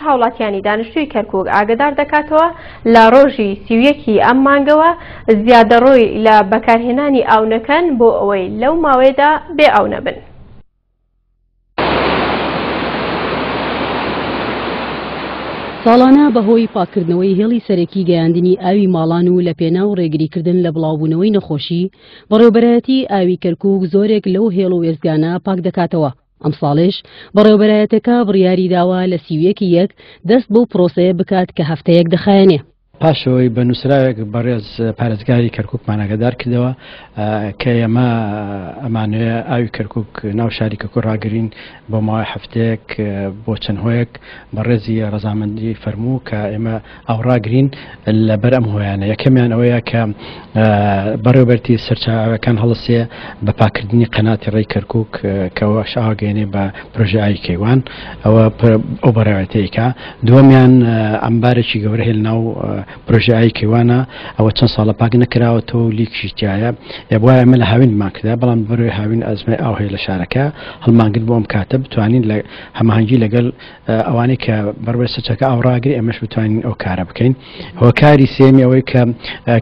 هاوڵاتیانی دانیشتووی کەرکوک ئاگەدار دەکاتەوە لە ڕۆژی 31 ی ئەم مانگەوە زیادەڕۆی لە بەکارهێنانی ئاو نەکەن بۆ ئەوەی لەو ماوەیەدا بێ ئاو نەبن. ساڵانە بەهۆی پاککردنەوەی هێڵی سەرەکی گەیاندنی ئاوی ماڵان و لەپێناو ڕێگریکردن لە بڵاوبوونەوەی نەخۆشی، بەڕێوەبەرایەتی ئاوی کەرکوک زۆرێک لەو هێڵ و وێستگانە پاکدەکاتەوە. ئەمساڵیش بەڕێوەبەرایەتەکە بڕیاریداوە لە 31 ی یەک دەست بەو پرۆسەیە بکات کە هەفتەیەک دەخایەنێ. پاش ئەوەی بە نووسراوێک بەڕێز پارێزگاری کەرکووکمان ئاگادار کردەوە کە ئێمە ئەمانەوێ ئاوی کەرکووک ناو شاری کەرکووک ڕاگرین بۆ ماوەی هەفتەیەک بۆ چەند هۆیەک بەڕێزی ڕەزامەندی فەرموو کە ئێمە ئاو ڕاگرین لەبەر ئەم هۆیانە یەکەمیان ئەوەیە کە بەڕێوبەرتی سەرچاوەکان هەڵسێ بە پاکردنی قەناتی ڕێی کەرکووک کەەوە شاگەێنێ بە پرۆژە ئاوی کەیوان ئەوە ئەو بەڕێوەتەیەکە دووەمیان ئەمبارێکی گەورە هەیە لەناو پرۆژە ئاوی کەیوانە ئەوە چەند ساڵە پاک نەکراوەتەوە و لیکیشی تایە ئێبوایە ئێمە لە هاوینمان کردا بەڵام بەرەوەی هاوین ئەزمەی ئاو هەیە لە شارەکە هەڵمانگرت بۆ ئەم کاتە بتوانین لە هەماهەنگی لەگەڵ ئەوانەی کە بەڕێ سەرچەکە ئاو ڕاگری ئێمەش بتوانین ئەو کارە بکەین هۆکاری سێمی ئەوەی کە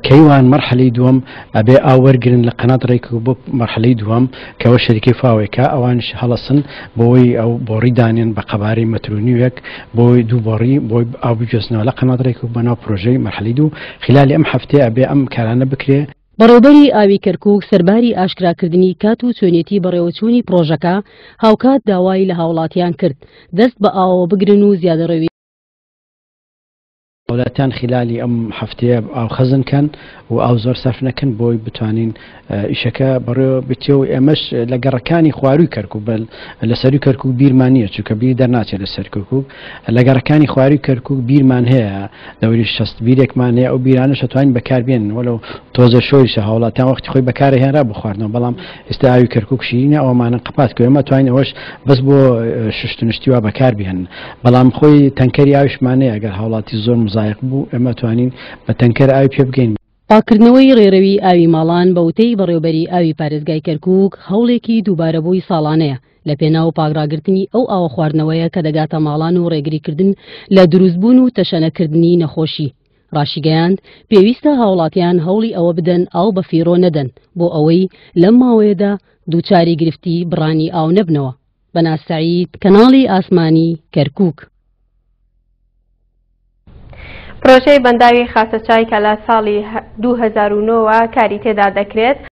کەیوان مەرحەلەی دووەم ئەبێ ئاو وەرگرن لە قەنات ڕێک بۆ مەرحەلەی دووەم کەەوە شەریکەی فاوێکە ئەوانش هەڵەسن بۆی ئەو بۆڕی دانێن بە قەبارەی مەتر و نیوێک بۆی دوو بۆڕی بۆی ئاو بگوێزنەوە لە قەنات ڕێک بۆ ناو پرۆژەی مەرحەلەی دوو خلالی ئەم هەفتەیە ئەبێ ئەم کارانە بکرێ. بەڕێوبەری ئاوی کەرکوک سەرباری ئاشکراکردنی کات و چۆنێتی بەڕێوەچوونی پڕۆژەکە، هاوکات داوای لە هاوڵاتیان کرد دەست بە ئاوەوە بگرن و زیادەڕەوی. هاوڵاتیان خلالی ئەم هەفتەیە ئاو خەزن کەن و ئاو زۆر سەرف نەکەن بۆی بتوانین ئیشەکە بەڕێوە بچێ و ئێمەش لە گەڕەکانی خواروی کەرکوک بە لە سەروی کەرکوک بیرمان نییە چونکە بیر دەرناچێت لە سەر کەرکوک لە گەڕەکانی خواروی کەرکوک بیرمان هەیە دەوری 60 بیرێکمان هەیە ئەو بیرانەش ئەتوانین بەکاربێنن وەلو تۆزە شۆریشە هاوڵاتیان وەختی خۆی بەکارە هێنرا بۆ خواردنەوە بەڵام ئێستا ئاوی کەرکوک شیرینە ئەومانە قەپات کە ئێمە توانین ئەوەش بەس بۆ شوشتن شتی وا بەکار بهێنن بەڵام خۆی تەنکەری ئاویشمان هەیە ئەگەر هاوڵاتی زۆر مزایق بوو ئێمە توانین بە تەنکەر ئاوی پێ بگەین. پاککردنەوەی ڕێرەوی ئاوی ماڵان بە وتەی بەڕێوبەری ئاوی پارێزگای کەرکوک هەوڵێکی دووبارەبووی ساڵانەیە لەپێناو پاکڕاگرتنی ئەو ئاوە خواردنەوەیە کە دەگاتە ماڵان و ڕێگریکردن لە دروستبوون و تەشەنەکردنی نەخۆشی. ڕاشیگەیاند، پێویستە هاوڵاتیان هەوڵی ئەوە بدەن ئاو بەفیڕۆ نەدەن بۆ ئەوەی لەم ماوەیەدا دووچاری گرفتی بڕانی ئاو نەبنەوە. بەناز سەعید، کەناڵی ئاسمانی، کەرکوک. پرۆژەی بەنداوی خاسەچای کە لە ساڵی 2009 وە کاری تێدا دەکرێت.